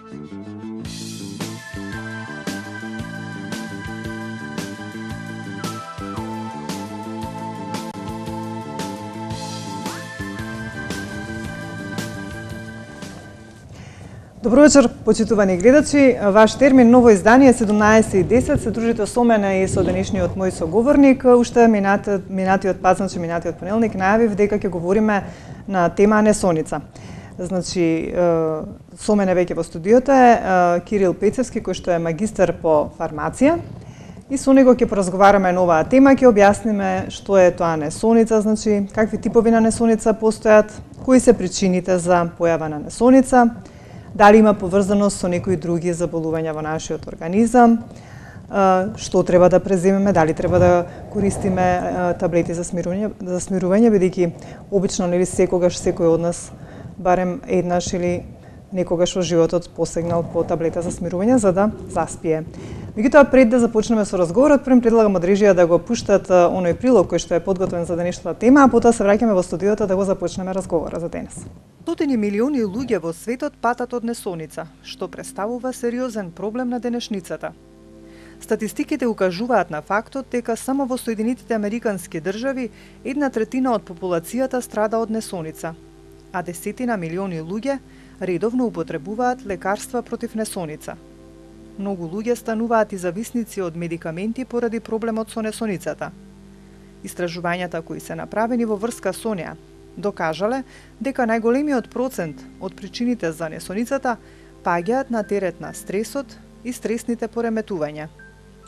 Добро вечер, почитувани гледачи. Ваш термин ново издание 17:10 се дружите со мене и со денешниот мој соговорник. Уште минатиот пат, значи минатиот понеделник, најавив дека ќе говориме на тема несоница. Значи, со мене веќе во студиото е Кирил Пецевски, кој што е магистар по фармација. И со него ќе поразговараме на оваа тема, ќе објасниме што е тоа несоница, значи какви типови на несоница постојат, кои се причините за појава на несоница, дали има поврзаност со некои други заболувања во нашиот организам, што треба да преземеме, дали треба да користиме таблети за смирување, бидејќи обично нели секогаш секој од нас барем еднаш или некогаш во животот посегнал по таблета за смирување за да заспие. Меѓутоа, пред да започнеме со разговорот, прем предлагам од режија да го пуштат оној прилог кој што е подготвен за денешната тема, а потоа се враќаме во студиото да го започнеме разговора за денес. Стотини милиони луѓе во светот патат од несоница, што представува сериозен проблем на денешницата. Статистиките укажуваат на фактот дека само во Соединетите Американски држави 1/3 од популацијата страда од несоница, а десетина милиони луѓе редовно употребуваат лекарства против несоница. Многу луѓе стануваат и зависници од медикаменти поради проблемот со несоницата. Истражувањата кои се направени во врска со неа докажале дека најголемиот процент од причините за несоницата паѓаат на терет на стресот и стресните пореметувања,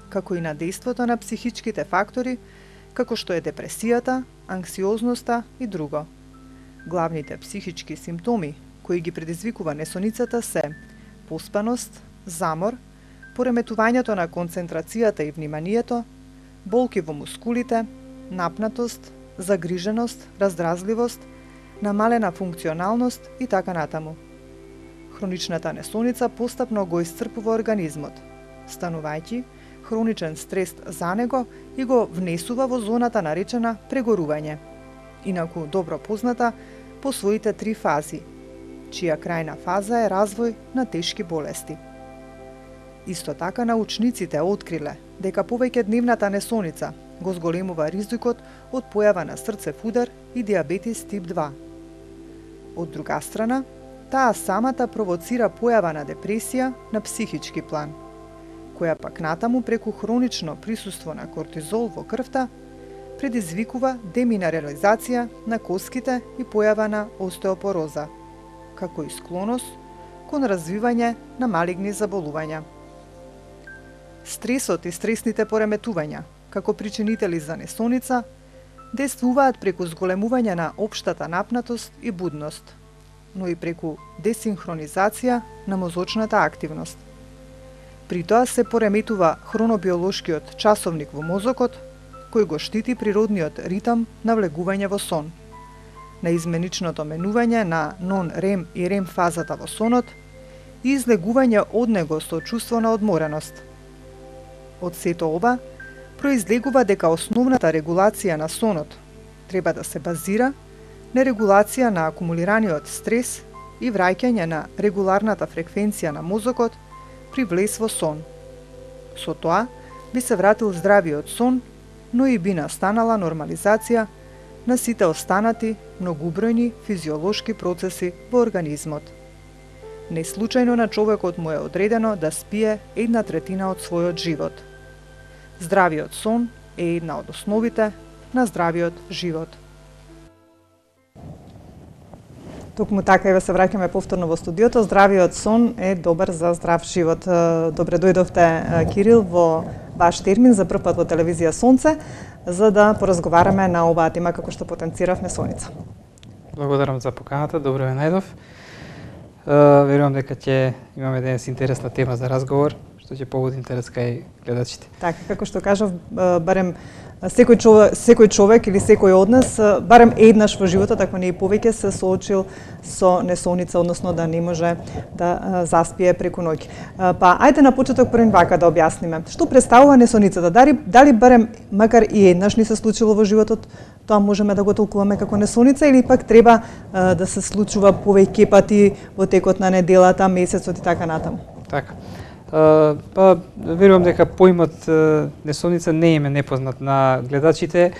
како и на дејството на психичките фактори, како што е депресијата, анксиозноста и друго. Главните психички симптоми кои ги предизвикува несоницата се поспаност, замор, пореметувањето на концентрацијата и вниманието, болки во мускулите, напнатост, загриженост, раздразливост, намалена функционалност и така натаму. Хроничната несоница постапно го исцрпува организмот, станувајќи хроничен стрес за него и го внесува во зоната наречена прегорување, инаку добро позната по своите 3 фази, чија крајна фаза е развој на тешки болести. Исто така научниците откриле дека повеќе дневната несоница го зголемува ризикот од појава на срцев удар и диабетис тип 2. Од друга страна, таа самата провоцира појава на депресија на психички план, која пак натаму преку хронично присуство на кортизол во крвта предизвикува деминерализација на коските и појава на остеопороза, како и склоност кон развивање на малигни заболувања. Стресот и стресните пореметувања, како причинители за несоница, действуваат преку зголемување на општата напнатост и будност, но и преку десинхронизација на мозочната активност. При тоа се пореметува хронобиолошкиот часовник во мозокот, кој го штити природниот ритам на влегување во сон, на изменичното менување на нон-рем и рем фазата во сонот и излегување од него со чувство на одмореност. Од сето ова, произлегува дека основната регулација на сонот треба да се базира на регулација на акумулираниот стрес и враќање на регуларната фреквенција на мозокот при влез во сон. Со тоа би се вратил здравиот сон, но и би настанала нормализација на сите останати многубројни физиолошки процеси во организмот. Не случајно на човекот му е одредено да спие 1/3 од својот живот. Здравиот сон е една од основите на здравиот живот. Токму така и се враќаме повторно во студиото. Здравиот сон е добар за здрав живот. Добре дојдовте, Кирил, во ваш термин за прв пат во телевизија Сонце, за да поразговараме на оваа тема како што потенцирав несоница. Благодарам за поканата, добро ве најдов. Верувам дека ќе имаме денес интересна тема за разговор, што ќе побуди интерес кај гледачите. Така, како што кажав, барем секој човек или секој од нас барем еднаш во животот, ако не и повеќе, се соочил со несоница, односно да не може да заспие преку ноќ. Па ајде на почеток првен вака да објасниме. Што представува несоницата? Дали барем макар и еднаш ни се случило во животот, тоа можеме да го толкуваме како несоница или пак треба да се случува повеќе пати во текот на неделата, месецот и така натаму? Така. Па верувам дека поимот несоница не е непознат на гледачите.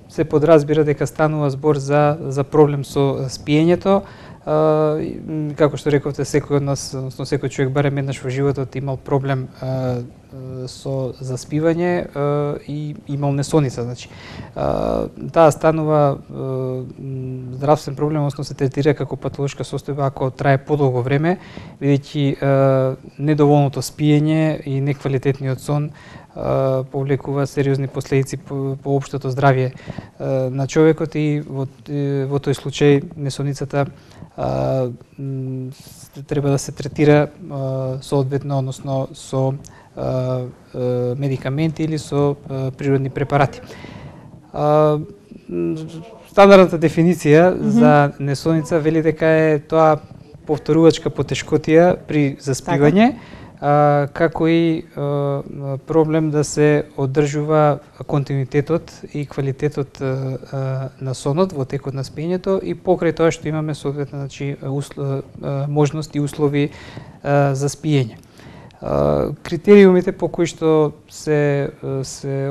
Се подразбира дека станува збор за проблем со спиењето. Како што рековте, секој од нас, односно секој човек барем еднаш во животот имал проблем со заспивање и имал несоница, значи. Таа станува здравствен проблем, односно се третира како патолошка состојба ако трае подолго време, бидејќи недоволното спиење и неквалитетниот сон повлекува сериозни последици по општото здравје на човекот и во тој случај несоницата треба да се третира соодветно, односно со медикаменти или со природни препарати. Стандардната дефиниција за несоница вели дека е тоа повторувачка потешкотија при заспивање, како и проблем да се одржува континуитетот и квалитетот на сонот во текот на спиењето и покрај тоа што имаме соодветно, значи, можност и услови за спиење. Критериумите по кои што се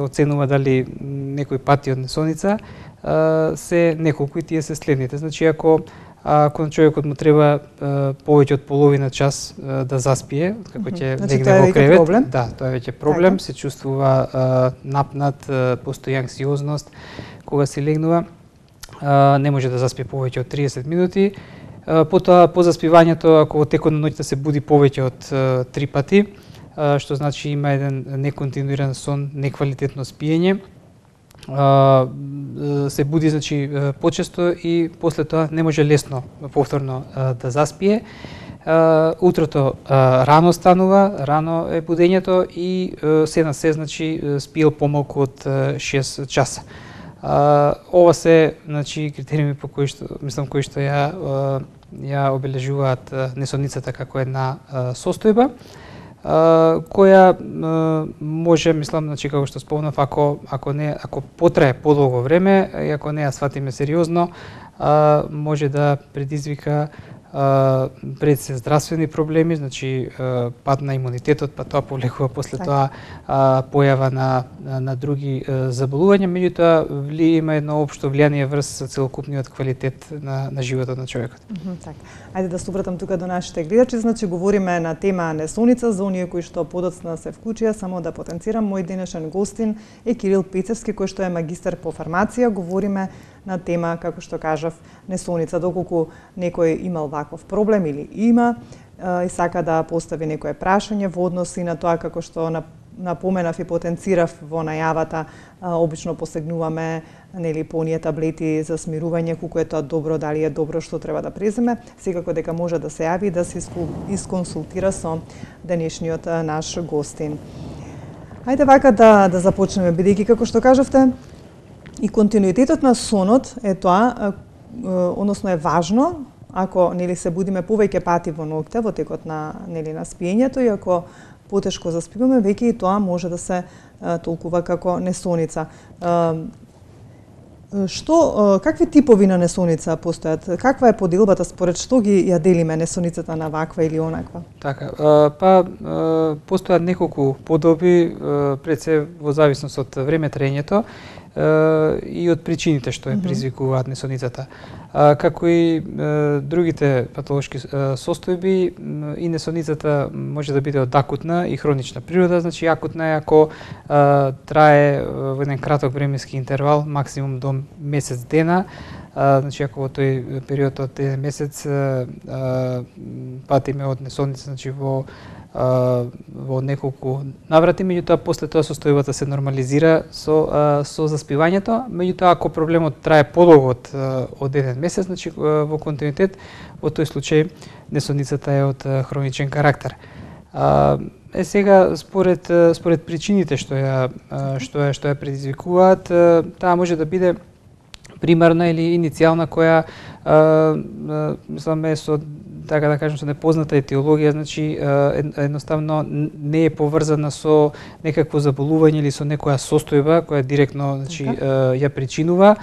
оценува дали некој пати од несоница се неколку и тие се следните. Значи, ако на човекот му треба повеќе од половина час да заспие, како ќе легне во кревет, да, тоа е веќе проблем, се чувствува напнат, постои анксиозност кога се легнува, не може да заспие повеќе од 30 минути. Потоа по заспивањето, ако во текот на ноќта се буди повеќе од 3 пати, што значи има еден неконтинуиран сон, неквалитетно спиење, се буди, значи, почесто и после тоа не може лесно повторно да заспие. Утрото рано станува, рано е будењето и се на се, значи, спиел помалку од 6 часа. Ова се, значи, критериуми по кои што, мислам, кои што ја обележуваат несоницата како една состојба, која може, мислам, значи, како што спомнав, ако потрае подолго време и ако не ја сватиме сериозно, може да предизвика пред се здравствени проблеми, значи пад на имунитетот, па тоа повлекува после тоа појава на други заболувања, меѓутоа има едно општо влијание врз целокупниот квалитет на животот на човекот. Така. Ајде да се обратам тука до нашите гледачи, значи говориме на тема несоница, за оние кои што подоцна се вклучија, само да потенцирам, мој денешен гостин е Кирил Пецевски, кој што е магистар по фармација, говориме на тема, како што кажав, несоница, доколку некој имал ваков проблем или има и сака да постави некое прашање во однос и на тоа, како што напоменав и потенцирав во најавата, обично посегнуваме, нели, по оние таблети за смирување, колку е тоа добро, дали е добро, што треба да преземе, секако дека може да се јави и да се исконсултира со денешниот наш гостин. Ајде вака да започнеме, бидејќи, како што кажавте, и континуитетот на сонот е тоа, односно е важно, ако, нели, се будиме повеќе пати во ноќта во текот на, нели, на спиењето и ако потешко заспиваме, веќе и тоа може да се толкува како несоница. Какви типови на несоница постојат? Каква е поделбата, според што ги ја делиме несоницата на ваква или онаква? Така, па постојат неколку подоби, пред се во зависност од време траењето и од причините што ја предизвикуваат несоницата. Како и другите патолошки состојби, и несоницата може да биде од акутна и хронична природа. Значи, акутна е ако трае во еден краток временски интервал, максимум до месец дена. Значи, ако во тој период од еден месец патиме од несоница, значи во неколку наврати, меѓутоа после тоа состојбата се нормализира со заспивањето, меѓутоа ако проблемот трае подолго од еден месец, значи во континуитет, во тој случај несоницата е од хроничен карактер. сега според причините што ја предизвикуваат, таа може да биде примарна или иницијална која мислам е со така да кажем со непозната етиологија, значи едноставно не е поврзана со некакво заболување или со некоја состојба која директно значи ја причинува,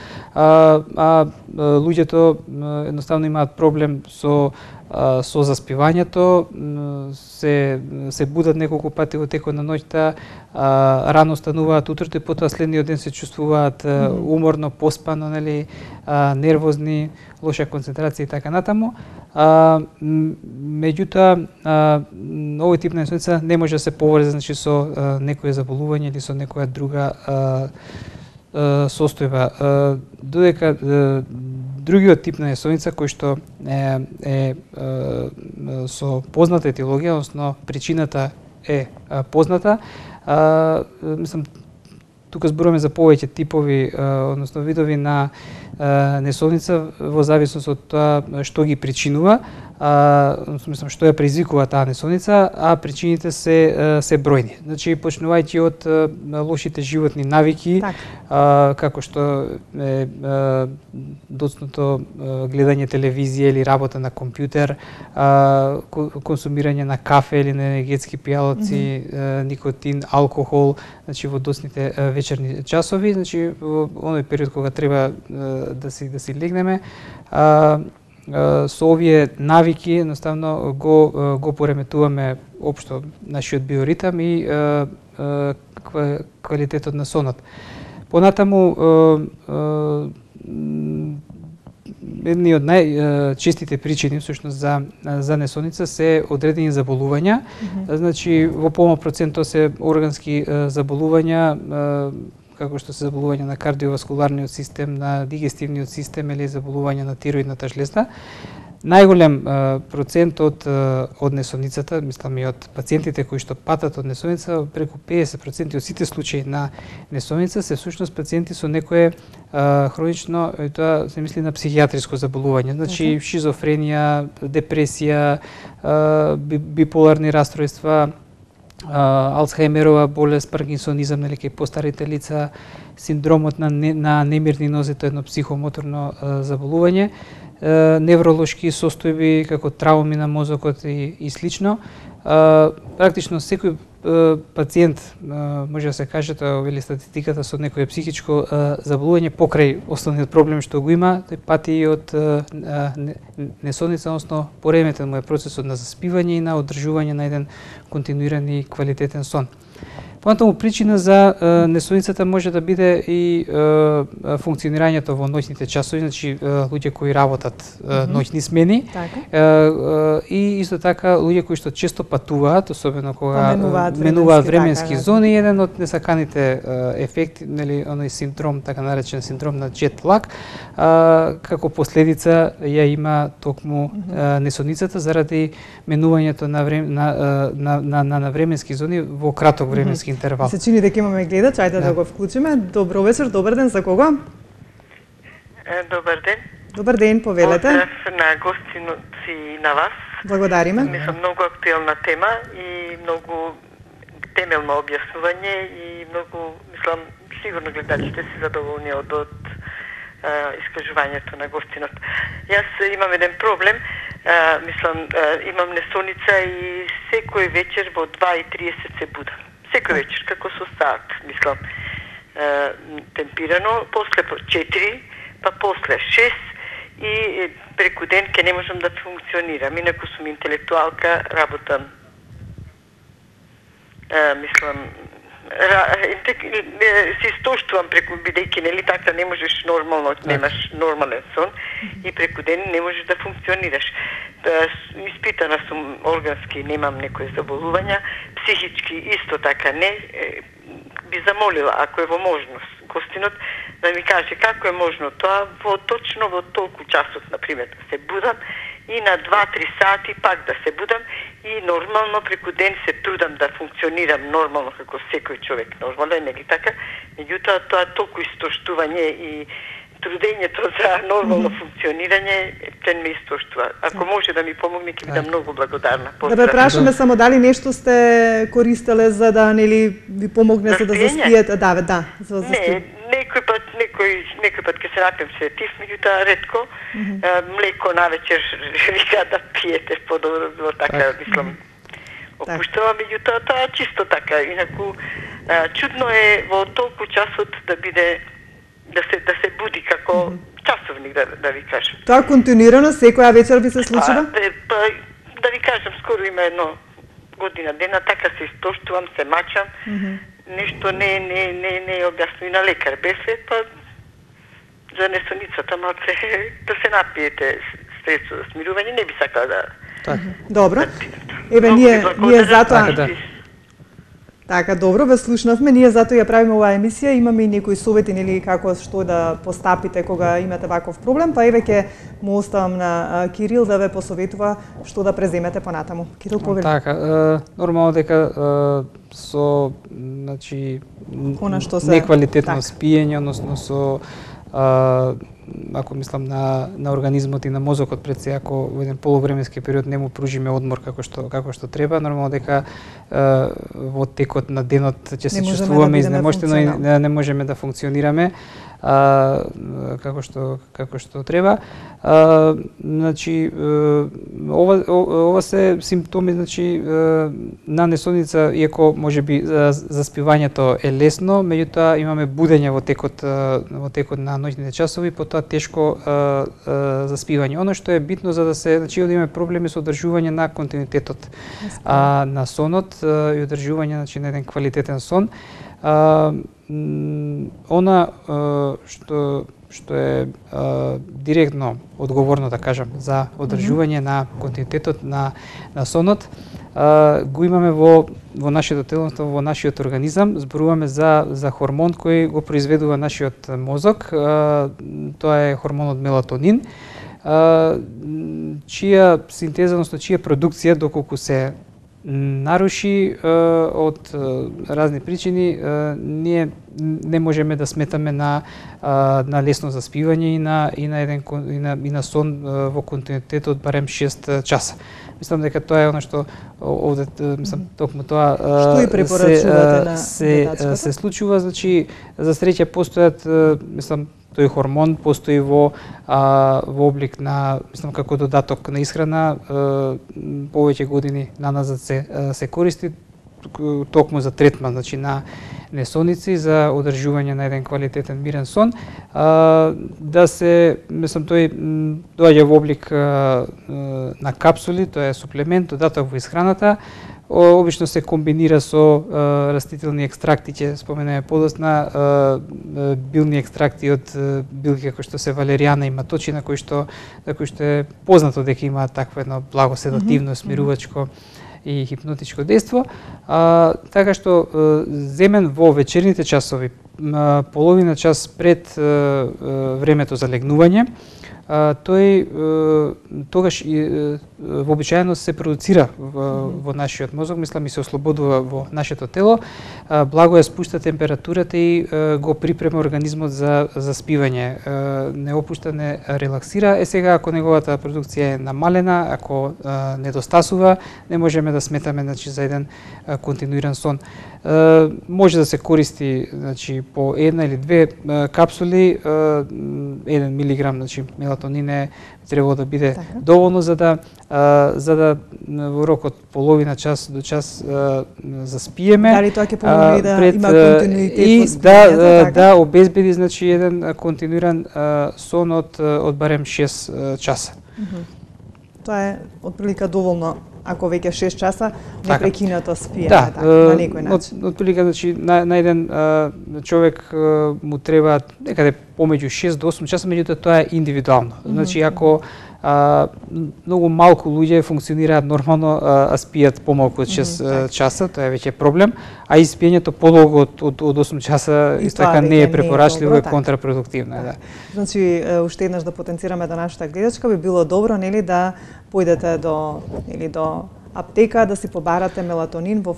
луѓето едноставно имаат проблем со заспивањето, се будат неколку пати во текот на ноќта, рано стануваат утрото и потоа следниот ден се чувствуваат уморно, поспано, нели, нервозни, лоша концентрација и така натаму. Меѓутоа, овој тип на несоница не може да се поврзе значи со некое заболување или со некоја друга состојба. Додека другиот тип на несоница кој што е со позната етиологија, односно причината е позната, мислам тука зборуваме за повеќе типови, односно видови на несоница во зависност од тоа што ги причинува, мислам што ја предизвикува таа несоница, а причините се бројни. Значи почнувајќи од лошите животни навики, како што е доцното гледање телевизија или работа на компјутер, консумирање на кафе или на енергетски пијалоци, никотин, алкохол, значи во доцните вечерни часови, значи во оној период кога треба да си легнеме, со овие навики едноставно го пореметуваме општо нашиот биоритам и квалитетот на сонот. Понатаму едни од најчестите причини всушност за несоница се одредени заболувања. Значи во помал процент тоа се органски заболувања, како што се заболување на кардиоваскуларниот систем, на дигестивниот систем или заболување на тироидната жлезда. Најголем процент од несоницата, мислам и од пациентите кои што патат од несоница, преку 50% од сите случаи на несоница се всушност пациенти со некое хронично, и тоа се мисли на психијатриско заболување, значи шизофренија, депресија, биполарни расстройства, Алцхајмерова болест, паркинсонизам, нели кај постарите лица, синдромот на немирни нозе, тоа е едно психомоторно заболување, невролошки состојби како трауми на мозокот и слично. Практично секој пациент може да се каже, тоа вели статистиката, со некое психичко заболување покрај основниот проблем што го има, тој пати и од несоница, односно пореметен му е процесот на заспивање и на одржување на еден континуиран и квалитетен сон. Понатаму причина за несоницата може да биде и функционирањето во ноќните часови, значи луѓе кои работат ноќни смени, и исто така луѓе кои што често патуваат, особено кога менуваат временски зони, еден од несаканите ефекти, нели оној синдром, така наречен синдром на джет лаг, како последица ја има токму несоницата заради менувањето на временски зони во краток временски интервал. Се чини дека имаме гледач, ајде да го вклучиме. Добро вечер, добар ден, за кого? Добар ден. Добар ден, повелете. Поздрав на гостиноци и на вас. Благодариме. Мислам, многу актуелна тема и многу темелно објаснување и многу, мислам, сигурно гледачите се задоволни од искажувањето на гостинот. Јас имам еден проблем, мислам, имам несоница и секој вечер во 2:30 се будам. Секој вечер, како со саат, мислам, темпирано, после 4, па после 6 и преку ден ке не можам да функционирам. Инаку сум интелектуалка, работам, мислам, се истоштувам преку, бидејќи нели така не можеш нормално, немаш нормален сон и преку ден не можеш да функционираш. Испитана сум органски, немам некои заболувања, психички исто така не. Би замолила, ако е во можност, гостинот да ми каже како е можно тоа точно во толку часот, например, да се будам и на 2-3 сати пак да се будам и нормално преку ден се трудам да функционирам нормално како секој човек нормален, нели така? Меѓутоа тоа толку истоштување и трудењето за нормално функционирање кен ме истоштува. Ако може да ми помогне, ќе бидам многу благодарна. Да ве прашаме само дали нешто сте користеле за да нели ви помогне за да заспиете? Да, за Не, некој пат ќе се напием сетив, меѓутоа ретко млеко навечер вика да пиете подобро, така мислам. Опуштава, меѓутоа тоа чисто така. Инаку чудно е во толку часот да биде да се буди како часовник, да ви кажам. Тоа континуирано секоја вечер ви се случува? Да ви кажам, скоро има едно година дена, така се истоштувам, се мачам. Нешто не објасно и на лекар беше, па за несоницата малце да се напиете средство за смирување, не би сакала да... Добро. Еве, ние затоа... Така, добро, ве слушнавме. Ние затоа ја правиме оваа емисија. Имаме и некои совети, нели, како што да постапите кога имате ваков проблем, па еве ќе му оставам на Кирил да ве посоветува што да преземете понатаму. Кирил, повели. Така, нормално дека со, значи, неквалитетно спиење, односно со ако мислам на организмот и на мозокот пред се, ако во еден полувременски период не му пружиме одмор како што треба, нормално дека во текот на денот ќе се чувствуваме изнемоштено и не можеме да функционираме како што треба. Значи ова се симптоми, значи на несоница, иако можеби заспивањето е лесно, меѓутоа имаме будење во текот на ноќните часови, потоа тешко заспивање. Оно што е битно за да се, значи да имаме проблеми со одржување на континуитетот на сонот и одржување, значи, на еден квалитетен сон. Она што е директно одговорно, да кажам, за одржување на континуитетот на сонот, го имаме во нашето тело, во нашиот организам. Зборуваме за хормон кој го произведува нашиот мозок. Тоа е хормонот мелатонин, чија синтеза, односно чија продукција, доколку се наруши од разни причини, ние не можеме да сметаме на лесно заспивање и на сон во континуитет од барем 6 часа. Мислам дека тоа е она што овде, мислам, токму тоа што и препорачувате на се случува. Значи, за среќа постојат, мислам, тој хормон постои во облик на, мислам, како додаток на исхрана, повеќе години наназад се користи токму за третман, значи на несоници, за одржување на еден квалитетен мирен сон. Да се, мислам, тој доаѓа во облик на капсули, тоа е суплемент, додаток во исхраната. Обично се комбинира со растителни екстракти, ќе споменеме подоцна, билни екстракти од билки како што се валеријана и маточина, кој што е познато дека има такво едно благо седативно, смирувачко и хипнотичко дејство. Така што земен во вечерните часови, половина час пред времето за легнување, тој тогаш вообичаено се продуцира во нашиот мозок, мислам, и се ослободува во нашето тело, благо ја спушта температурата и го припрема организмот за спивање. Не опушта, не релаксира. Сега, ако неговата продукција е намалена, ако недостасува, не можеме да сметаме, значи, за еден континуиран сон. Може да се користи, значи, по една или две капсули, 1 милиграм, значи, мелатонин треба да биде доволно за да во рок од половина час до час заспиеме. Дали тоа ќе помогне да има континуитет во спиењето? Да обезбеди, значи, еден континуиран сон од барем 6 часа. Тоа е отприлика доволно, ако веќе 6 часа непрекинато спиеме, на некој начин. Отприлика, значи, на еден човек му треба некаде помеѓу 6 до 8 часа, меѓутоа тоа е индивидуално. Значи, ако многу малку луѓе функционираат нормално, а спијат помалку од 6 часа, тоа е веќе проблем, а и спиењето подолго од 8 часа исто така не е препорачливо и контрапродуктивно. Значи, уште еднаш да потенцираме до нашата гледачка, би било добро, нели, да појдете до аптека да си побарате мелатонин во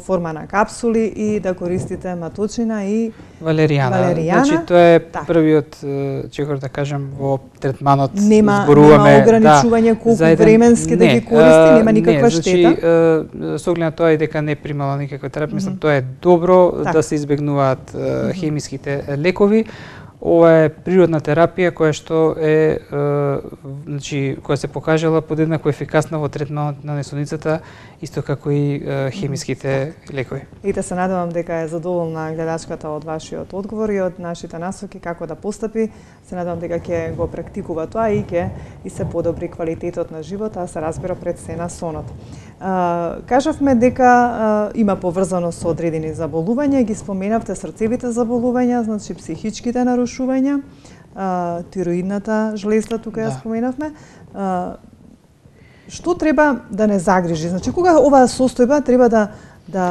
форма на капсули и да користите маточина и валеријана. Значи тоа е првиот чекор да кажем во третманот. Нема ограничување колку временски да ги користи, нема никаква штета. Значи со оглед на тоа и дека не примала никаква терапија, мислам тоа е добро да се избегнуваат хемиските лекови. Ова е природна терапија која што е значи која се покажала подеднакво ефикасна во третманот на несоницата, исто како и хемиските лекови. И да се надевам дека е задоволна гледачката од вашиот одговор и од нашите насоки како да постапи. Се надевам дека ќе го практикува тоа и ќе и се подобри квалитетот на живота, а се разбира пред се на сонот. Кажавме дека има поврзаност со одредени заболувања, ги споменавте срцевите заболувања, значи психичките нарушувања, тироидната жлезда тука ја споменавме. Што треба да не загрижи? Значи кога оваа состојба треба да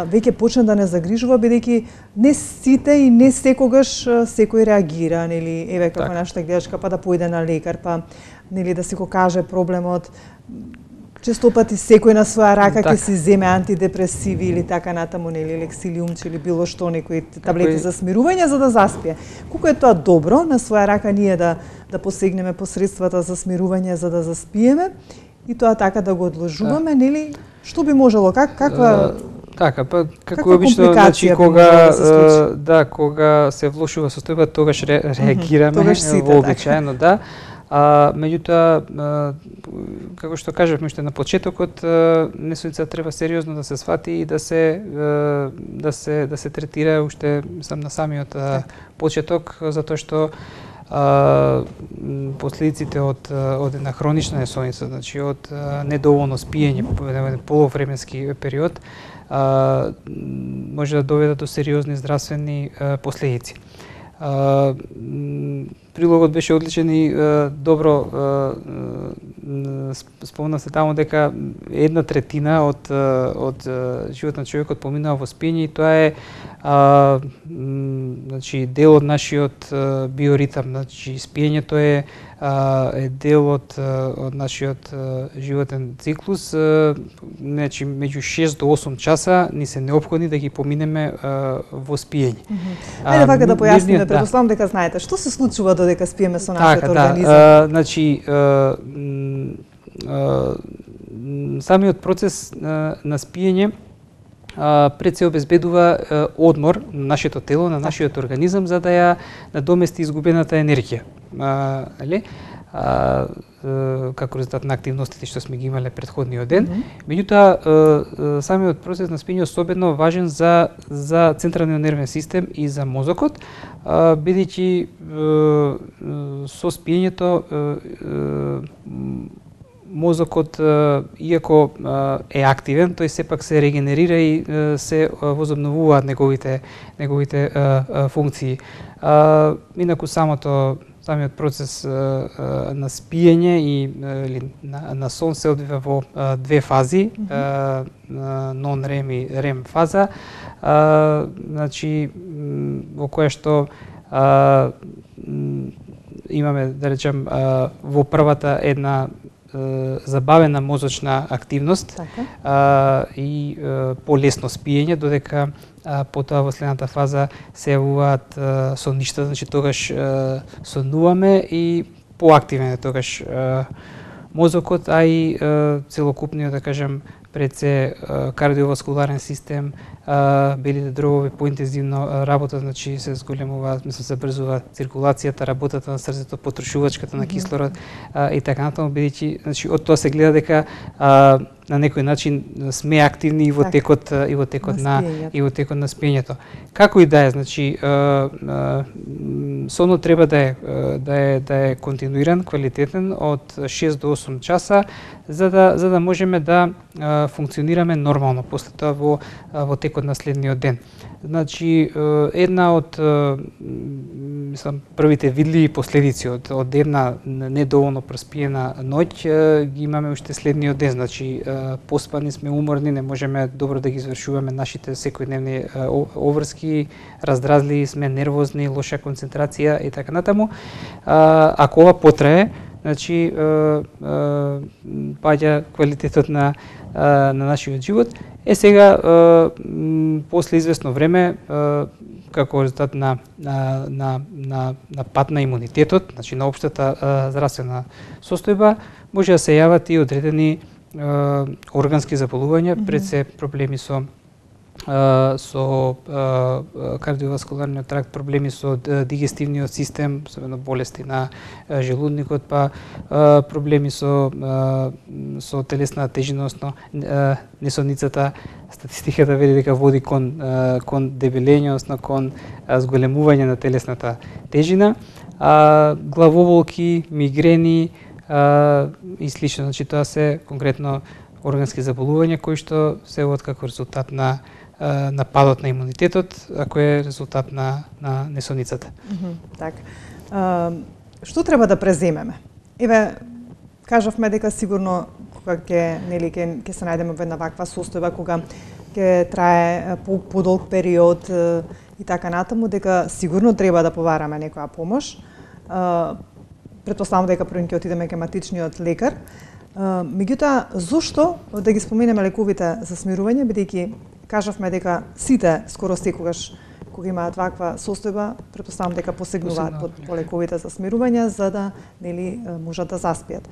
веќе почне да не загрижува, бидејќи не сите и не секогаш секој реагира, нели, еве како нашата гледачка, па да појде на лекар, па нели да си го каже проблемот. Често пати секој на своја рака ќе си земе антидепресиви или така натаму, нели, лексилиумче или било што, некои таблети за смирување за да заспие. Колку е тоа добро на своја рака ние да посегнеме посредствата за смирување за да заспиеме и тоа така да го одложуваме, нели? Што би можело, каква така, па како обично, значи кога се влошува состојба, тогаш реагираме вообичаено, да. Меѓутоа, како што кажавме уште на почетокот, несоница треба сериозно да се свати и да се третира уште сам на самиот почеток, затоа што последиците од една хронична несоница, значи од недоволно спиење по еден полувременски период, може да доведат до сериозни здравствени последици. Прилогот беше одличен и добро спомна се таму дека 1/3 од животот на човекот поминува во спиење и тоа е значи дел од нашиот биоритам, значи спиењето е дел од нашиот животен циклус, значи меѓу 6 до 8 часа ни се неопходни да ги поминеме во спиење. Ајде вака да појасниме, предпоставам дека знаете што се случува додека спиеме со нашиот организам. Значи самиот процес на спиење пред се обезбедува одмор на нашето тело, на нашиот организам, за да ја надомести изгубената енергија. Како резултат на активностите што сме ги имале претходниот ден. Меѓутоа, самиот процес на спиење е особено важен за централниот нервен систем и за мозокот, бидејќи со спиењето мозокот, иако е активен, тој сепак се регенерира и се возобновуваат неговите функции. Инаку самиот процес на спиење и на сон се одвива во две фази, нон-рем и рем фаза, значи во која што имаме, да речем, во првата една забавена мозочна активност и полесно спиење, додека потоа во следната фаза се јавуваат сонништа, значи тогаш сонуваме и поактивен е тогаш мозокот, а и целокупниот, да кажем, пред се кардиоваскуларен систем, белите дробови поинтензивно работат, значи се зголемува, се брзува циркулацијата, работата на срцето, потрошувачката на кислород и така натаму, бидејќи, значи од тоа се гледа дека на некој начин сме активни и во текот на спиењето. Како и да е, значи сонот треба да е континуиран, квалитетен од 6 до 8 часа за да можеме да функционираме нормално после тоа во текот на следниот ден. Значи една од првите видливи последици од една недоволно проспиена ноќ ги имаме уште следниот ден, значи поспани сме, уморни, не можеме добро да ги извршуваме нашите секојдневни обврски, раздразливи сме, нервозни, лоша концентрација и така натаму. Ако ова потрае, значи паѓа квалитетот на нашиот живот. Сега после известно време како резултат на пат на имунитетот, значи на општата здравствена состојба, може да се јават и одредени органски заболувања, пред се проблеми со кардиоваскуларниот тракт, проблеми со дигестивниот систем, особено болести на желудникот, па проблеми со телесна тежина, односно несоницата. Статистиката вели дека води кон дебелење, односно кон зголемување на телесната тежина, главоболки, мигрени и слично. Значи тоа се конкретно органски заболувања кои што се од како резултат на падот на имунитетот, ако е резултат на несоницата. Така. Што треба да преземеме? Еве, кажавме дека сигурно кога ќе се најдеме во една ваква состојба, кога ќе трае подолг период и така натаму, дека сигурно треба да побараме некоја помош. Претпоставам дека прво ќе отидеме кај матичниот лекар. Меѓутоа, зошто да ги споменеме лековите за смирување, бидејќи кажавме дека сите скоро секогаш кога имаат ваква состојба, претпоставам дека посегнуваат по лековите за смирување за да можат да заспијат.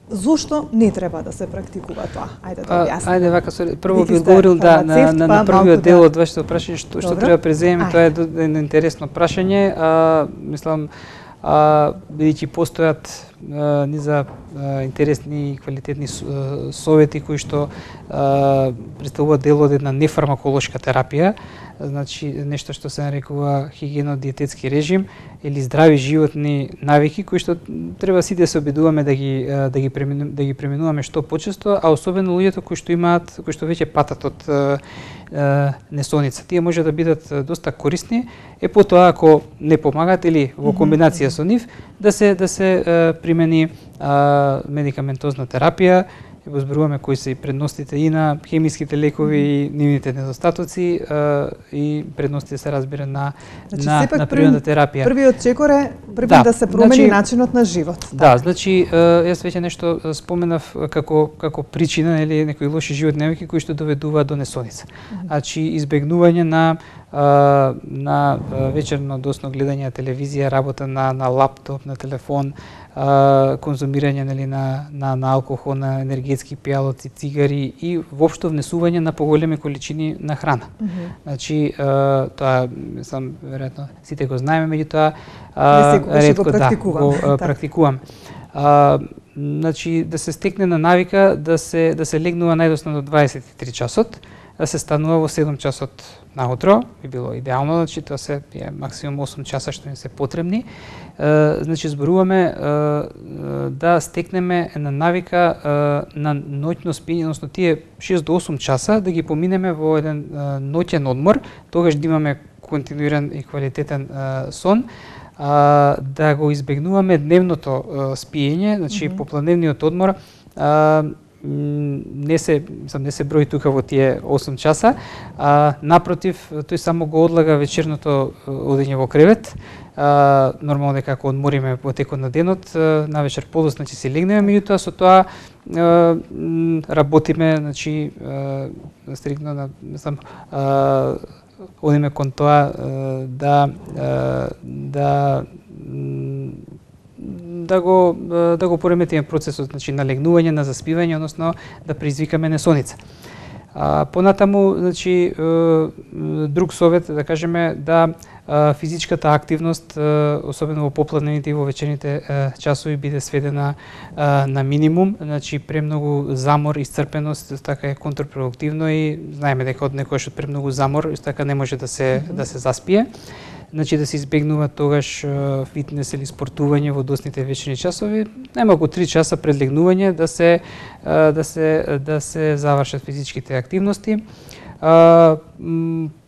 Зошто не треба да се практикува тоа? Ајде да објасниме. Ајде вака, прво би одговорил на првиот дел од вашето прашање што треба преземеме, тоа е едно интересно прашање. Мислам, бидејќи постојат низа интересни и квалитетни совети кои што представуваат дел од една нефармаколошка терапија, значи нешто што се нарекува хигиено-диететски режим или здрави животни навики кои што треба сите да се обидуваме да ги преминуваме што почесто, а особено луѓето кои што веќе патат од несоница. Тие може да бидат доста корисни, потоа ако не помагат или во комбинација со нив да се примени медикаментозна терапија. Го зборуваме кои се и предностите и на хемиските лекови и нивните недостатоци и предностите се разбира на природна терапија. Првиот чекор е да се промени начинот на живот. Да, значи јас веќе нешто споменав како причина или некои лоши животни навики кои што доведуваат до несоница. Значи избегнување на вечерно досно гледање на телевизија, работа на лаптоп, на телефон, конзумирање на алкохол, на енергетски пијалоци, цигари и воопшто внесување на поголеми количини на храна. Значи тоа сам веројатно сите го знаеме, меѓутоа ретко го практикувам. Значи да се стекне на навика да се легнува најдосно до 23 часот, да се станува во 7 часот наутро, би било идеално, значи тоа се максимум 8 часа што ни се потребни. Значи зборуваме да стекнеме една навика на ноќно спиење, односно тие 6 до 8 часа да ги поминеме во еден ноќен одмор, тогаш да имаме континуиран и квалитетен сон, да го избегнуваме дневното спиење, значи попланевниот одмор не се брои тука во тие 8 часа, напротив, тој само го одлага вечерното одење во кревет. Нормално дека ако одмориме во текот на денот, навечер подоцна ќе си легнеме, меѓутоа со тоа работиме, значи стрикно одиме кон тоа да го пореметиме процесот, значи на легнување, на заспивање, односно да предизвикаме несоница. Понатаму, значи друг совет да кажеме да физичката активност, особено во попладневните и во вечерните часови, биде сведена на минимум, значи премногу замор, исцрпеност, така е контрпродуктивно и знаеме дека од некојаш од премногу замор, така не може да се заспие. Значи да се избегнува тогаш фитнес или спортување во досните вечерни часови, најмалку 3 часа пред легнување да се завршат физичките активности.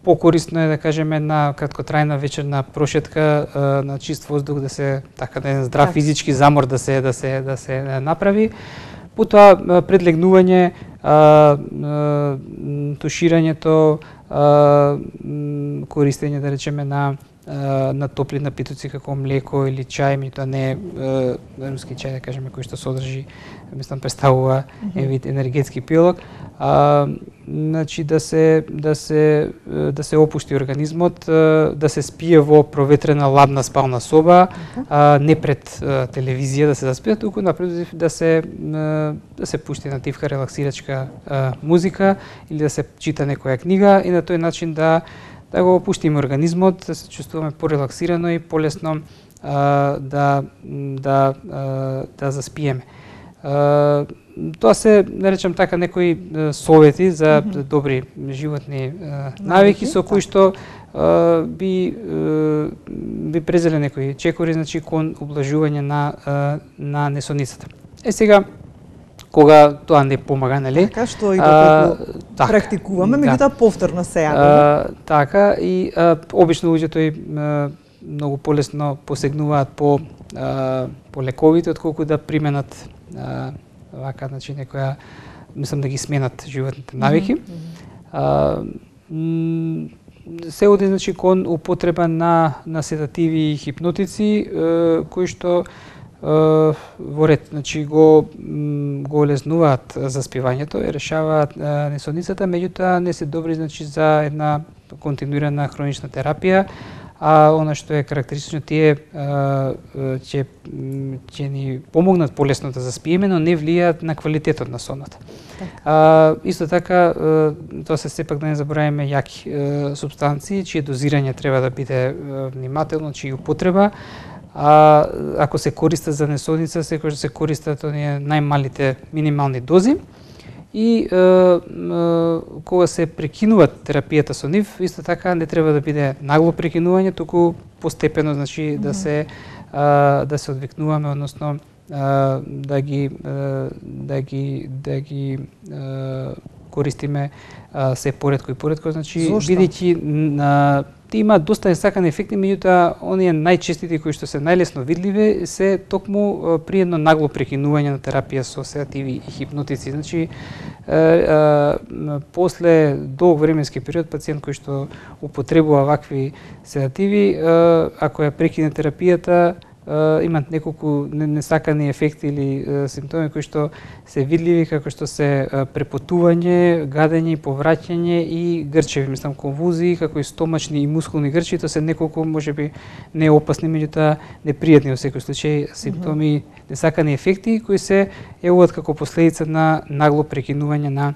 Покорисно е да кажеме една краткотрајна вечерна прошетка на чист воздух, да се така да здрав физички замор да се направи. Потоа пред легнување туширањето, користење да речеме на на топли напитоци како млеко или чај, меѓутоа не руски чај, да кажеме, кој што содржи, мислам, представува вид енергетски пилок. Значи да се опушти организмот, да се спие во проветрена ладна спална соба, не пред телевизија да се заспие, туку напротив да се пушти на тивка релаксирачка музика или да се чита некоја книга и на тој начин да го опуштиме организмот, да се чувствуваме порелаксирано и полесно да заспиеме. Тоа се, да речем така, некои совети за добри животни навики со кои што би презеле некои чекори, значи кон ублажување на несоницата. Сега, кога тоа не помага, нели? Така, што и доколку практикуваме, меѓутоа повторно се јаваме. Така, и обично луѓето и многу полесно посегнуваат по лековите, отколку да применат вака, значи, некоја, мислам, да ги сменат животните навики. Се оди, значи, кон употреба на седативи и хипнотици, кои што во ред, значи го олеснуваат заспивањето и решаваат несоницата, меѓутоа не се добри, значи, за една континуирана хронична терапија, а она што е карактеристично, тие ќе ни помогнат полесно да заспиеме, но не влијаат на квалитетот на сонот. Исто така, тоа се сепак да не забораваме јаки супстанции, чие дозирање треба да биде внимателно, чија употреба. Ако се користат за несоница, секогаш се користат оние најмалите минимални дози. И кога се прекинуваат терапијата со нив, исто така не треба да биде нагло прекинување, туку постепено, значи да се одвикнуваме, односно да ги користиме се поретко и поретко, значи бидејќи има доста несакани ефекти, меѓутоа оние најчестите кои што се најлесно видливи се токму при едно нагло прекинување на терапија со седативи и хипнотици. Значи после долг временски период пациент кој што употребува вакви седативи, ако ја прекине терапијата, имаат неколку несакани ефекти или симптоми кои што се видливи, како што се препотување, гадење, повраќање и грчеви, мислам, конвузии, како и стомачни и мускулни грчеви. Тоа се неколку, можеби не опасни, меѓутоа непријатни во секој случај симптоми, несакани ефекти кои се јавуваат како последица на нагло прекинување на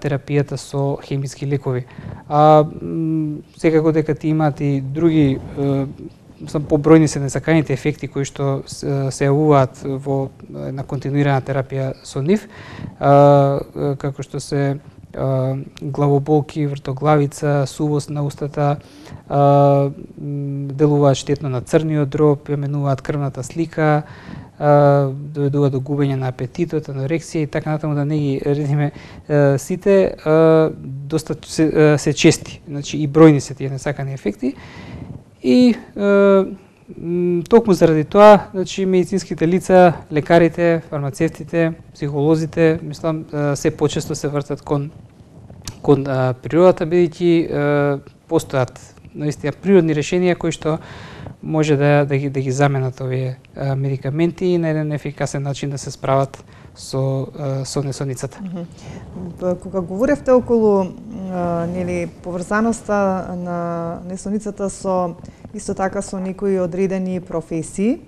терапијата со хемиски лекови. Секако дека ти имаат и други побројни се несаканите ефекти кои што се јавуваат во една континуирана терапија со нив, како што се главоболки, вртоглавица, сувост на устата, делуваат штетно на црниот дроб, менуваат крвната слика, доведуваат до губење на апетитот, анорексија и така натаму, да не ги редиме сите, доста се чести, значи и бројни се тие несакани ефекти. И токму заради тоа, значи медицинските лица, лекарите, фармацевтите, психолозите, мислам, се почесто се вртат кон природата, бидејќи постојат наистина природни решенија кои што може да ги заменат овие медикаменти и на еден ефикасен начин да се справат со несоницата. Кога говоревте околу поврзаноста на несоницата со исто така со некои одредени професии,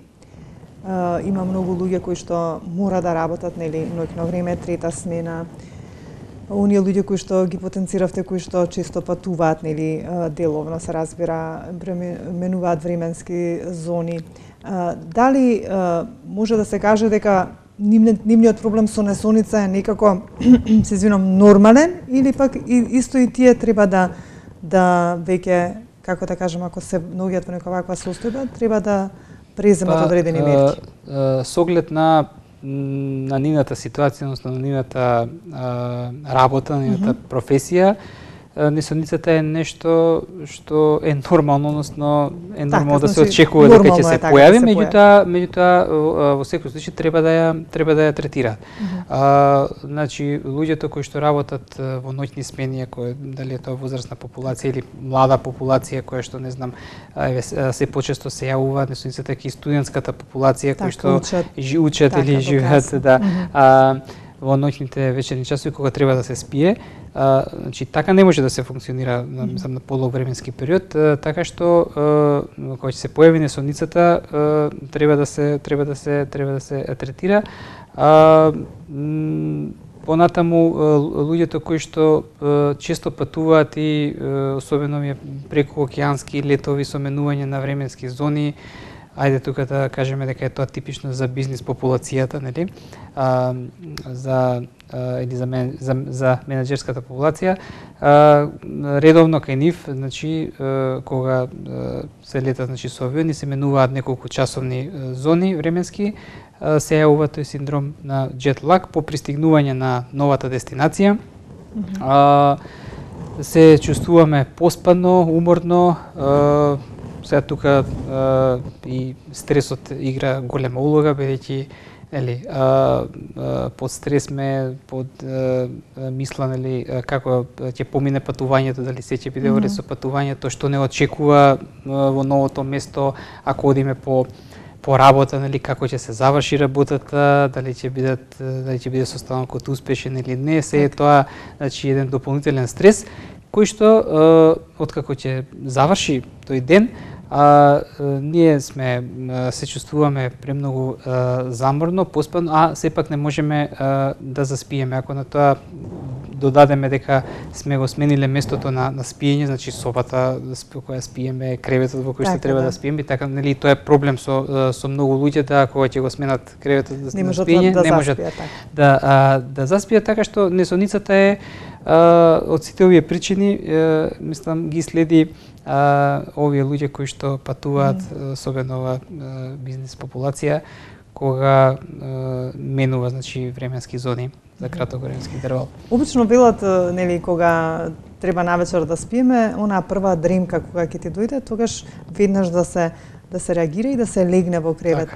има многу луѓе кои што мора да работат ноќно време, трета смена. Оние луѓе кои што ги потенциравте, кои што често патуваат деловно, се разбира, менуваат временски зони. Дали може да се каже дека нивниот проблем со несоница е некако, се извинам, нормален, или пак исто и тие треба да веќе, како да кажем, ако се наоѓаат во некоја ваква состојба, треба да преземат одредени мерки? Со оглед на нивната ситуација, односно на нивната работа, на нивната професија, несоницата е нешто што е нормално, односно е нормално да се значи, очекува дека ќе се појави, да меѓутоа во секој случај треба да ја третираат. Значи луѓето кои што работат во ноќни смени, дали е тоа возрастна популација или млада популација која што не знам се почесто се јавува, несоницата и студентската популација кои што учат или живеат во ноќните вечерни часови кога треба да се спие. Значи така не може да се функционира на подолг временски период, така што кога ќе се појави несоницата треба да се третира. Понатаму луѓето кои што често патуваат и особено преку океански летови со менување на временски зони, ајде тука да кажеме дека е тоа типично за бизнис популацијата, нели? Или за менаџерската популација, редовно кај нив, значи кога се летат, значи со авиони, се менуваат неколку часовни зони временски, се јавува тој синдром на jet lag по пристигнување на новата дестинација. Се чувствуваме поспано, уморно, сега тука и стресот игра голема улога, бидејќи под стрес сме, под мисла како ќе помине патувањето, дали се ќе биде во ред со патувањето, што не очекува во новото место, ако одиме по работа, како ќе се заврши работата, дали ќе биде состанокот успешен или не, се е тоа, значи, еден дополнителен стрес кој што откако ќе заврши тој ден, ние се чувствуваме премногу заморно, поспано, а сепак не можеме да заспиеме. Ако на тоа додадеме дека сме го смениле местото на спиење, значи собата во која спиеме, креветот во кој што треба да спиеме, така нели тоа е проблем со многу луѓе, да кога ќе го сменат креветот на спиење, не можат да заспијат, така што несоницата е од сите овие причини, мислам ги следи овие луѓе кои што патуваат, особено ова бизнес популација, кога менува, значи, временски зони за краток временски интервал. Обично велат, нели, кога треба навечер да спиеме, онаа прва дремка кога ќе ти дојде, тогаш веднаш да се реагира и да се легне во кревет.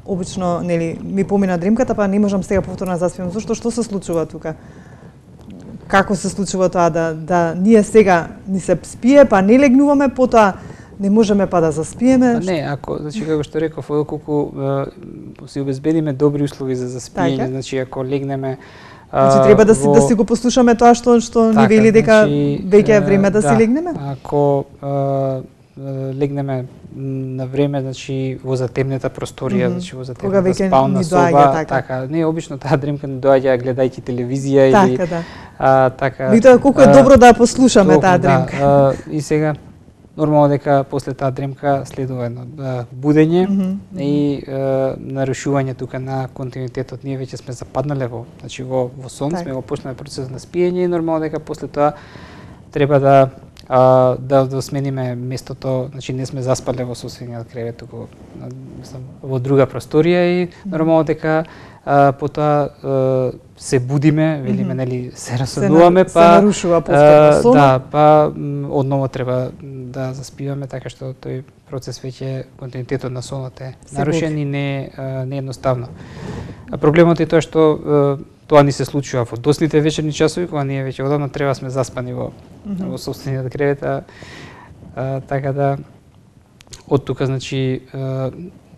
Обично, нели, ми помина дремката, па не можам сега повторно да заспием. Зошто, што се случува тука? Како се случува тоа да ние сега ни се спие, па не легнуваме, потоа не можеме па да заспиеме? Не, ако, значи, како што реков, колку си обезбедиме добри услови за заспиење, значи, ако легнеме... Значи, треба да си го послушаме тоа што ни вели дека веќе е време да си легнеме? Ако легнеме на време, значи, во затемнета просторија, значи, во затемнета спална соба, така, не, обично таа дремка не доаѓа гледајќи телевизија или... Така. Меѓутоа, колку е добро да послушаме таа дремка. И сега, нормално дека после таа дремка следува едно будење и нарушување тука на континуитетот. Ние веќе сме западнале во сон, сме го почнале процесот на спиење и нормално дека после тоа треба да смениме местото, значи не сме заспале во соседниот кревет, туку во друга просторија и нормално дека потоа се будиме, велиме, нели, се расудуваме, па се нарушува повторно сонот. Да, па одново треба да заспиваме, така што тој процес веќе континуитетот на сонот е нарушен и не едноставно. Проблемот е тоа што тоа ни се случува во досните вечерни часови, кога ние веќе одамна треба сме заспани во сопствениот кревет, така да од тука, значи,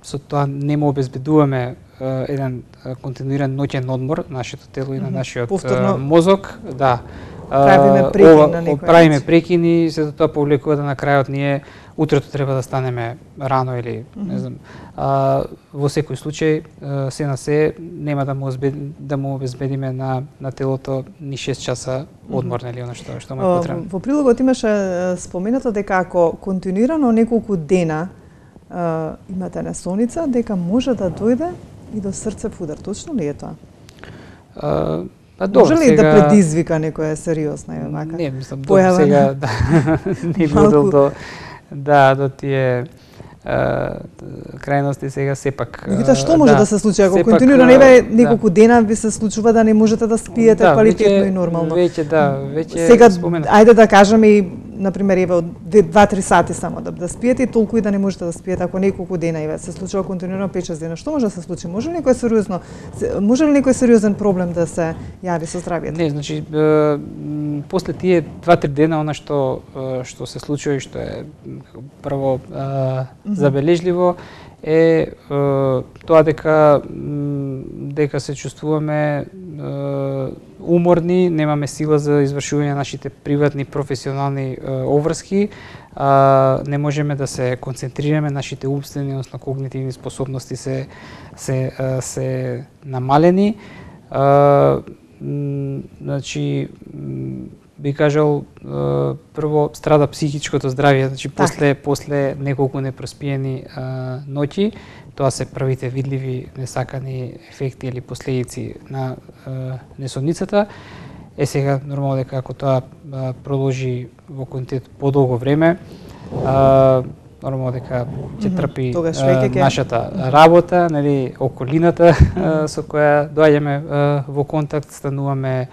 со тоа не му обезбедуваме еден континуиран ноќен одмор на нашето тело и на нашиот мозок, да. Правиме прекини, се тоа повлекува да на крајот ние утрето треба да станеме рано или не знам. Во секој случај се на се нема да му обезбедиме на телото ни 6 часа одмор, нели, она што му е потребно. Во прилогот имаше споменато дека ако континуирано неколку дена имате несоница, дека може да дојде и до срцев удар. Точно ли е тоа? Може ли да предизвика некоја сериозна вака? Не, мислам, до сега не би одел до тие крајности сега сепак. Меѓутоа што може да се случи ако континуирано еве неколку дена ви се случува да не можете да спиете квалитетно и нормално? Веќе сега ајде да кажеме и например еве од 2-3 сати само да спиете и толку и да не можете да спиете ако неколку дена еве се случува континуирано 5-6 дена. Што може да се случи? Може ли некој сериозен проблем да се јави со здравјето? Не, значи после тие 2-3 дена она што се случува и што е прво забележливо е тоа дека се чувствуваме уморни, немаме сила за извршување на нашите приватни професионални обврски, не можеме да се концентрираме, нашите умствени, односно когнитивни способности се намалени. Значи би кажал прво страда психичкото здравје, значи после неколку непроспиени ноќи, тоа се првите видливи несакани ефекти или последици на несонницата. Сега нормално дека ако тоа продолжи во континент подолго време, нормално дека ќе трпи нашата работа, нели, околината со која доаѓаме во контакт, стануваме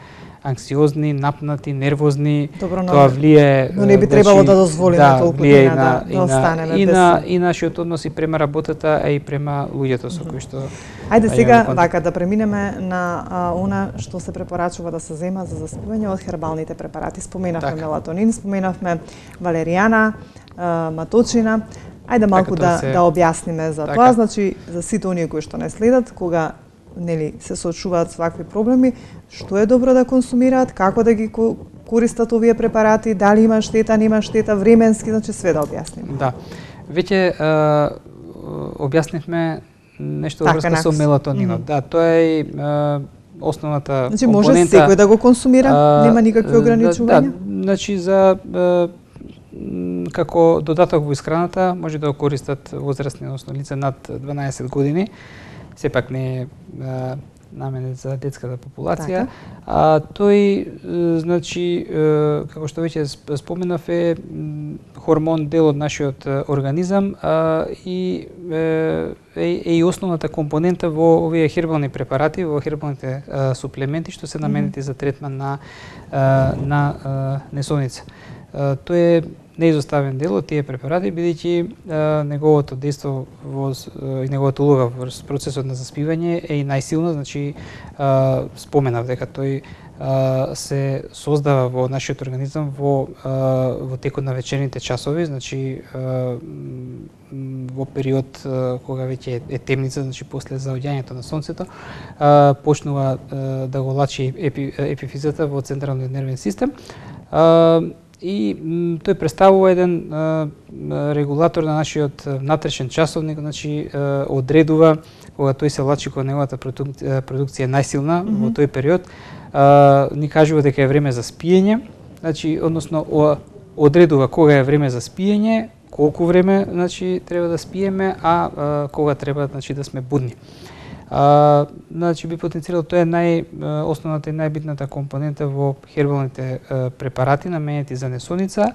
анксиозни, напнати, нервозни. Тоа влие, но не би требало да дозволиме толку да останеме без и нашиот однос и према работата, а и према луѓето со кои што. Ајде сега вака да преминеме на она што се препорачува да се зема за заспивање од хербалните препарати. Споменавме мелатонин, споменавме валеријана, маточина. Ајде малку да објасниме за тоа, значи за сите оние кои што не следат, кога нели се соочуваат со вакви проблеми, што е добро да консумираат, како да ги користат овие препарати, дали има штета, нема штета, временски, значи све да објасниме. Да. Веќе објаснивме нешто во врска со мелатонинот. Да, тоа е основната компонента. Значи може секој да го консумира, нема никакви ограничувања? Да, значи за како додаток во исхраната може да го користат возрастни, односно лица над 12 години. Сепак не е наменет за детската популација. Тој, значи, како што веќе споменав, е хормон дел од нашиот организам и е основната компонента во овие хербални препарати, во хербалните суплементи што се наменети за третман на несоница. Тој е неизоставен дел од тие препарати, бидејќи неговото дејство и неговата улога во процесот на заспивање е и најсилна, значи споменав дека тој се создава во нашиот организам во текот на вечерните часови, значи во период кога веќе е темница, значи после заоѓањето на сонцето, почнува да го лачи епифизата во централниот нервен систем. И тој представува еден регулатор на нашиот внатрешен часовник, значи одредува кога тој се лачи, кога неговата продукција е најсилна во тој период, ни кажува дека е време за спиење, значи односно одредува кога е време за спиење, колку време значи треба да спиеме, а кога треба значи да сме будни. Значи би потенцирал тоа е основната и најбитната компонента во хербалните препарати наменети за несоница,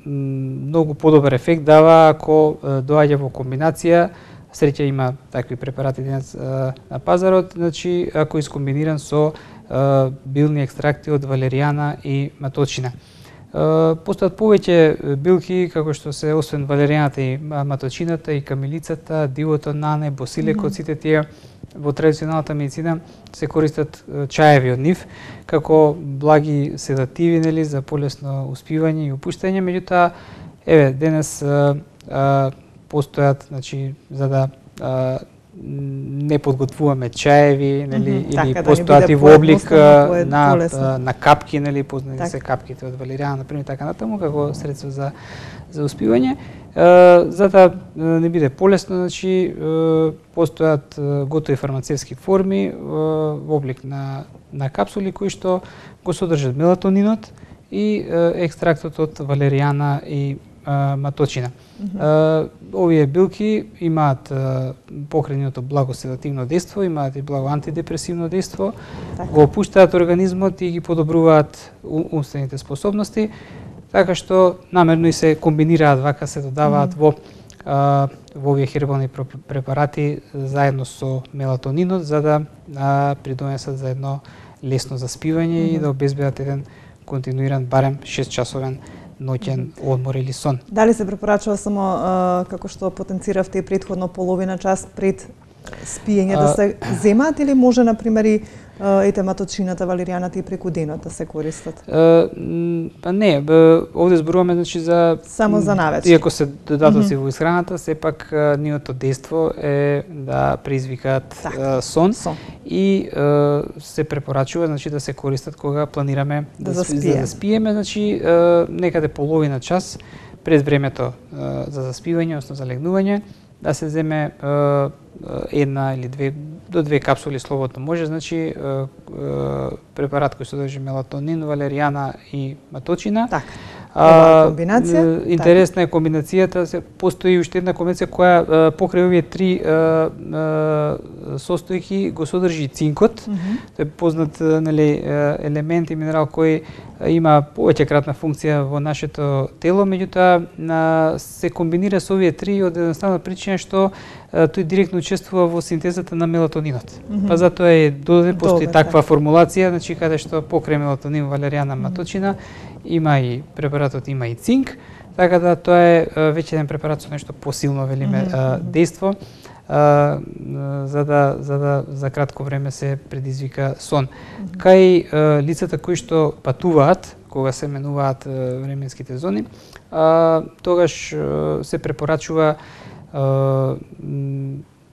многу подобар ефект дава ако доаѓа во комбинација. Среќа има такви препарати денес на пазарот, значи ако искомбиниран со билни екстракти од валеријана и маточина. Постојат повеќе билки, како што се освен валеријаната и маточината, и камилицата, дивото нане, босилекот, сите тие во традиционалната медицина се користат чаеви од нив, како благи седативи, нели, за полесно успивање и опуштање, меѓутоа, еве, денес постојат, значи, за да не подготвуваме чаеви, нели, или постојат и во облик на капки, нели, познати се капките од валеријана, например, така натаму, како средство за успивање. За да не биде полесно, значи, постојат готови фармацевски форми во облик на капсули кои што го содржат мелатонинот и екстрактот од валеријана и маточина. Овие билки имаат покрајното благо седативно дејство, имаат и благо антидепресивно дејство, го опуштаат организмот и ги подобруваат умствените способности. така што намерно и се комбинираат вака, се додаваат во овие хербални препарати заедно со мелатонинот за да придонесат за едно лесно заспивање и да обезбедат еден континуиран барем 6-часовен ноќен одмор или сон. Дали се препорачува само како што потенциравте претходно половина час пред спиење да се земат или може на пример и етематочината, валеријаната и преку денот да се користат? Па не, овде зборуваме значи за само за навечер. Иако се додатоци во исхраната, сепак нивното дејство е да предизвикаат сон и се препорачува значи да се користат кога планираме да заспиеме, значи некаде половина час пред времето за заспивање, односно за легнување, да се земе една или до две капсули слободно може, значи препарат кој содржи мелатонин, валеријана и маточина. Комбинација. Интересна е комбинацијата, постои уште една комбинација која покрај овие три состојки го содржи цинкот. Тој е познат елемент и минерал кој има повеќе кратна функција во нашето тело, меѓутоа се комбинира со овие три од едноставна причина што тој директно учествува во синтезата на мелатонинот. Па затоа е додаден, постои таква формулација, значи каде што покрај мелатонин, валеријана, маточина има и препаратот има и цинк, така да тоа е веќе еден препарат со нешто посилно велиме дејство, за кратко време се предизвика сон. Кај лицата кои што патуваат, кога се менуваат временските зони, тогаш се препорачува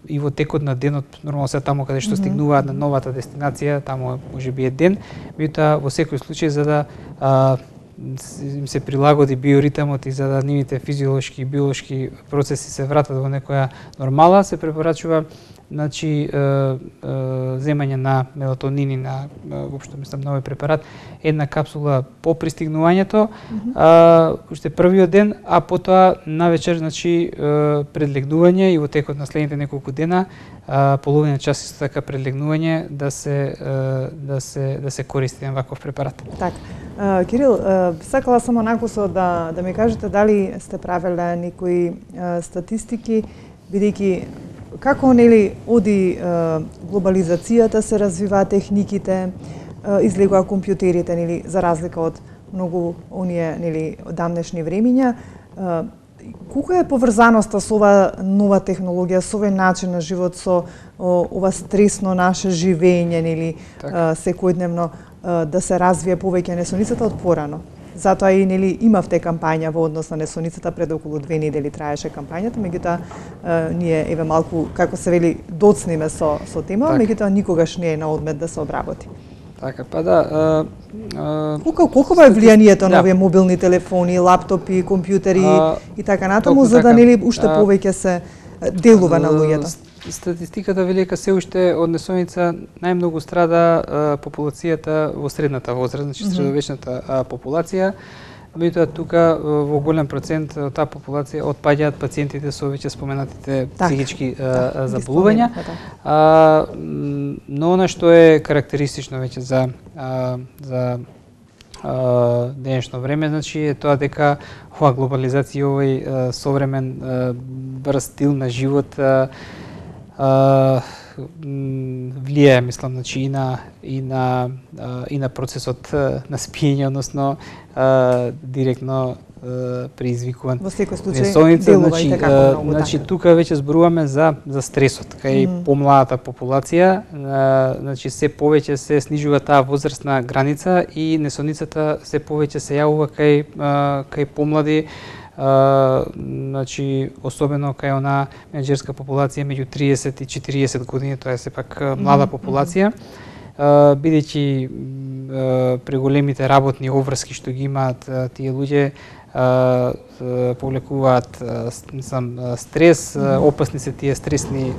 и во текот на денот, нормално се таму каде што стигнуваат на новата дестинација, таму можеби е ден, меѓутоа во секој случај за да им се прилагоди биоритмот и за да нивните физиолошки и биолошки процеси се вратат во некоја нормала, се препорачува значи земање на мелатонин и на воопшто мислам на овој препарат една капсула по пристигнувањето, уште првиот ден, а потоа навечер значи пред легнување и во текот на следните неколку дена половина час исто така пред легнување да се користи еден ваков препарат. Така. Кирил, сакала само накусо да ми кажете дали сте правеле некои статистики, бидејќи како нели оди глобализацијата, се развиваат техниките, излегува компјутерите нели за разлика од многу оние нели дамнешни времиња. Колку е поврзаноста со ова нова технологија, со овој начин на живот, со ова стресно наше живење нели секојдневно да се развие повеќе несоницата од порано? Затоа и нели имавте кампања во однос на несоницата, пред околу 2 недели траеше кампањата, меѓутоа ние еве малку како се вели доцнеме со тема, меѓутоа никогаш не е на одмет да се обработи. Така, па да. Колку е влијанието на овие мобилни телефони, лаптопи, компјутери и така натаму, за да нели уште повеќе се делува на луѓето? Статистиката вели дека се уште од несоница најмногу страда популацијата во средната возраст, значи средовечната популација. Меѓутоа тука во голем процент од таа популација отпаѓаат пациентите со веќе споменатите психички заболувања. Но она што е карактеристично веќе за денешно време, значи е тоа дека оваа глобализација, овој современ брз стил на живот влијае, мислам, значи и на процесот на спиење, односно директно предизвикуван во секој случај делува и така многу. Значи тука веќе зборуваме за стресот кај помладата популација, значи се повеќе се снижува таа возрастна граница и несоницата се повеќе се јавува кај помлади, значи особено кај она менаџерска популација меѓу 30 и 40 години, тоа е сепак млада популација, бидејќи преголемите работни обврски што ги имаат тие луѓе повлекуваат стрес, опасни се тие стресни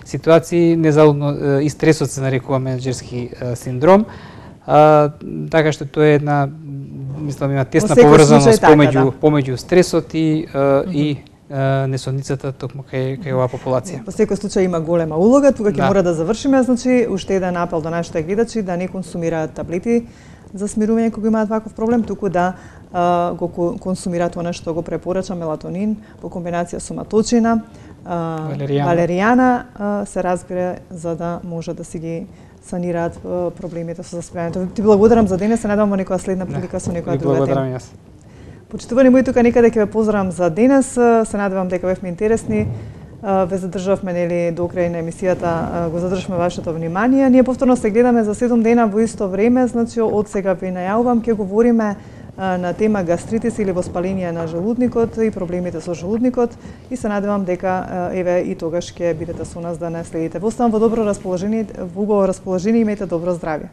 ситуации, незалудно и стресот се нарекува менаџерски синдром, така што тоа е една, мислам, има тесна поврзаност помеѓу стресот и несоницата токму кај оваа популација. Во секој случај има голема улога, тука ќе мора да завршиме, значи уште еден апел до нашите гледачи да не консумираат таблети за смирување кога имаат ваков проблем, туку да го консумираат она што го препорача мелатонин во комбинација со маточина, валеријана, се разбира за да може да си ги санираат проблемите со заспивањето. Ти благодарам за денес, се надевам во некоја следна прилика со некоја друга тема. Благодарам јас. Почитувани мои, тука некаде ќе ве поздравам за денес, се надевам дека бевме интересни. Ве задржавме нели до крај на емисијата, го задржавме вашето внимание. Ние повторно се гледаме за 7 дена во исто време, значи од сега ви најавувам ќе говориме на тема гастритис или воспаление на желудникот и проблемите со желудникот и се надевам дека еве и тогаш ќе бидете со нас да не следите. Оставам во добро расположение, во убаво расположение, имајте добро здравје.